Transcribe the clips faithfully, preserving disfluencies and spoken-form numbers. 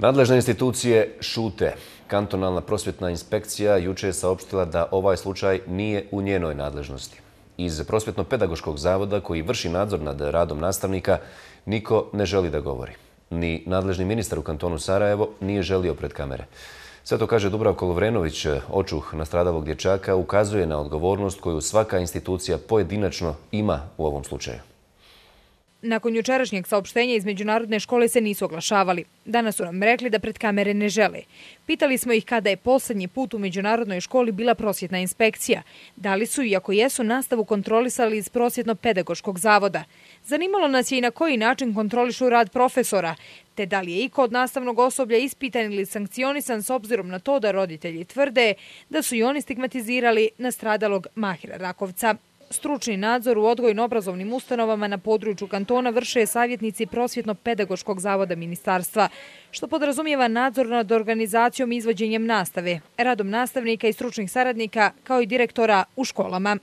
Nadležne institucije šute. Kantonalna prosvjetna inspekcija jučer je saopštila da ovaj slučaj nije u njenoj nadležnosti. Iz Prosvjetno-pedagoškog zavoda koji vrši nadzor nad radom nastavnika niko ne želi da govori. Ni nadležni ministar u kantonu Sarajevo nije želio pred kamere. Sve to, kaže Dubravko Lovrenović, očuh nastradalog dječaka, ukazuje na odgovornost koju svaka institucija pojedinačno ima u ovom slučaju. Nakon jučerašnjeg saopštenja iz međunarodne škole se nisu oglašavali. Danas su nam rekli da pred kamere ne žele. Pitali smo ih kada je posljednji put u međunarodnoj školi bila prosvjetna inspekcija. Da li su, iako jesu, nastavu kontrolisali iz Prosvjetno-pedagoškog zavoda. Zanimalo nas je i na koji način kontrolišu rad profesora, te da li je iko od nastavnog osoblja ispitan ili sankcionisan s obzirom na to da roditelji tvrde da su i oni stigmatizirali nastradalog Mahira Rakovca. Stručni nadzor u odgojno-obrazovnim ustanovama na području kantona vrše savjetnici Prosvjetno-pedagoškog zavoda ministarstva, što podrazumijeva nadzor nad organizacijom i izvođenjem nastave, radom nastavnika i stručnih saradnika, kao i direktora u školama.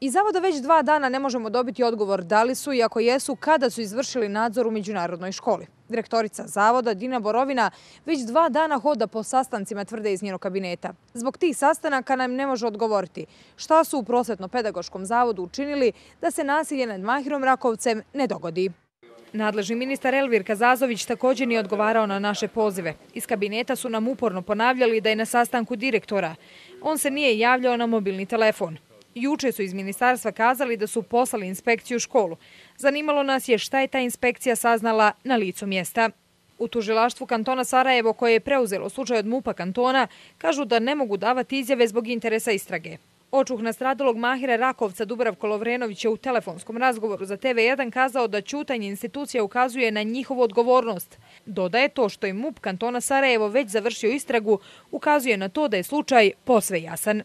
Iz zavoda već dva dana ne možemo dobiti odgovor da li su i ako jesu kada su izvršili nadzor u međunarodnoj školi. Direktorica zavoda Dina Borovina već dva dana hoda po sastancima, tvrde iz njenog kabineta. Zbog tih sastanaka nam ne može odgovoriti šta su u Prosvjetno-pedagoškom zavodu učinili da se nasilje nad Mahirom Rakovcem ne dogodi. Nadležni ministar Elvir Kazazović također nije odgovarao na naše pozive. Iz kabineta su nam uporno ponavljali da je na sastanku direktora. On se nije javljao na mobilni telefon. Juče su iz ministarstva kazali da su poslali inspekciju u školu. Zanimalo nas je šta je ta inspekcija saznala na licu mjesta. U tužilaštvu kantona Sarajevo, koje je preuzelo slučaj od MUP-a kantona, kažu da ne mogu davati izjave zbog interesa istrage. Očuh nastradalog Mahira Rakovca Dubravko Lovrenović je u telefonskom razgovoru za T V jedan kazao da ćutanje institucija ukazuje na njihovu odgovornost. Dodaje to što je MUP kantona Sarajevo već završio istragu, ukazuje na to da je slučaj posve jasan.